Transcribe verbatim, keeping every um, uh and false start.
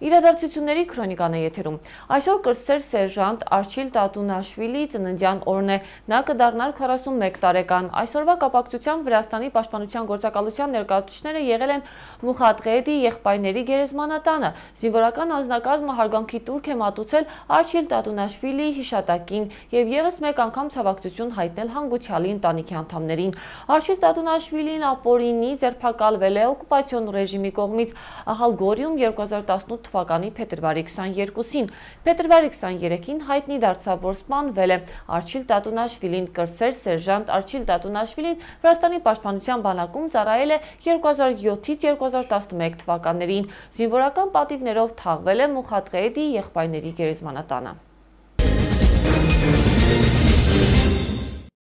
Իրադարձությունների քրոնիկան է եթերում։ Այսօր կրտսեր սերժանտ Արչիլ Տատունաշվիլի ծննդյան օրն է, նա կդառնար քառասունմեկ տարեկան։ Այսօրվա կապակցությամբ Վրաստանի պաշտպանության գործակալության ներկայացուցիչները եղել են Մուխաթղեդի եղբայրների գերեզմանատանը։ Զինվորական անձնակազմը հարգանքի տուրք է մատուցել Արչիլ Տատունաշվիլիի հիշատակին եւ եւս մեկ անգամ ցավակցություն հայտնել հանգուցյալի ընտանիքի անդամներին։ Արչիլ Տատունաշվիլին ապօրինի ձերբակալվել է օկուպացիոն ռեժիմի կողմից Ախալգորիում երկու հազար տասնութ թվականի փետրվարի քսաներկուսին։ Փետրվարի քսաներեքին հայտնի դարձավ, որ սպանվել է Արչիլ Տատունաշվիլին։ Կրտսեր սերժանտ Արչիլ Տատունաշվիլին Վրաստանի պաշտպանության բանակում ծառայել է երկու հազար յոթից երկու հազար տասնմեկ թվականներին։ Զինվորական պատիվներով թաղվել է Մուխաթղեդի եղբայրների գերեզմանատանը։